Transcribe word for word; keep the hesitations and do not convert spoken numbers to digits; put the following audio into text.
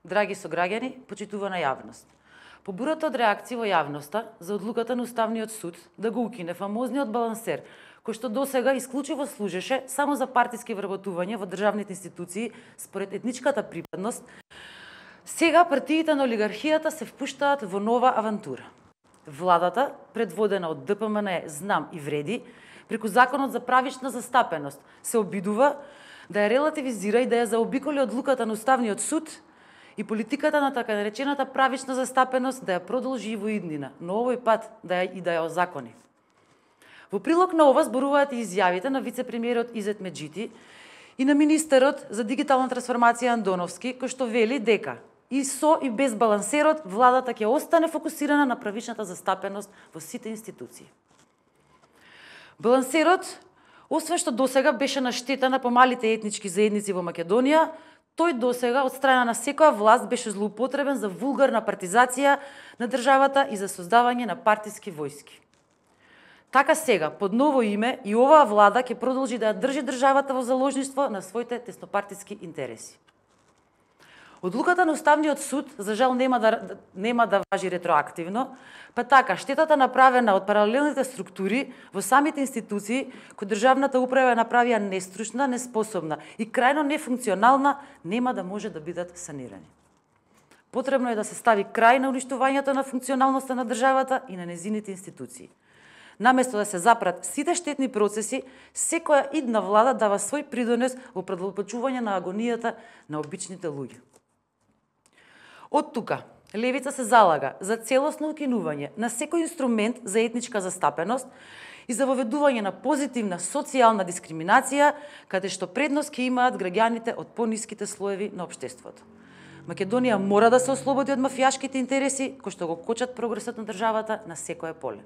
Драги сограѓани, почитувана јавност. По бурата од реакција во јавноста за одлуката на Уставниот суд да го укине фамозниот балансер, кој што досега исклучиво служеше само за партиски вработување во државните институции според етничката припадност, сега партиите на олигархијата се впуштаат во нова авантура. Владата, предводена од Д П М Н Е Знам и Вреди, преку Законот за правична застапеност, се обидува да ја релативизира и да ја заобиколи одлуката на Уставниот суд и политиката на така наречената правична застапеност да ја продолжи и во иднина, но овој пат да ја и да ја озакони. Во прилог на ова зборуваат и изјавите на вице-премиерот Изет Меджити и на министерот за дигитална трансформација Андоновски, кој што вели дека и со и без балансерот владата ќе остане фокусирана на правичната застапеност во сите институции. Балансерот, освен што досега беше на штета на помалите етнички заедници во Македонија, тој досега од страна на секоја власт беше злоупотребен за вулгарна партизација на државата и за создавање на партиски војски. Така сега, под ново име, и оваа влада ќе продолжи да ја држи државата во заложништво на своите теснопартиски интереси. Одлуката на Уставниот суд, за жал, нема да, нема да важи ретроактивно, па така, штетата направена од паралелните структури во самите институции, кои државната управа ја направија нестручна, неспособна и крајно нефункционална, нема да може да бидат санирани. Потребно е да се стави крај на уништувањето на функционалноста на државата и на незините институции. Наместо да се запрат сите штетни процеси, секоја идна влада дава свој придонес во продолбочување на агонијата на обичните луѓе. Од тука, левица се залага за целосно укинување на секој инструмент за етничка застапеност и за воведување на позитивна социјална дискриминација, каде што предност ќе имаат граѓаните од пониските слоеви на општеството. Македонија мора да се ослободи од мафијашките интереси кои што го кочат прогресот на државата на секое поле.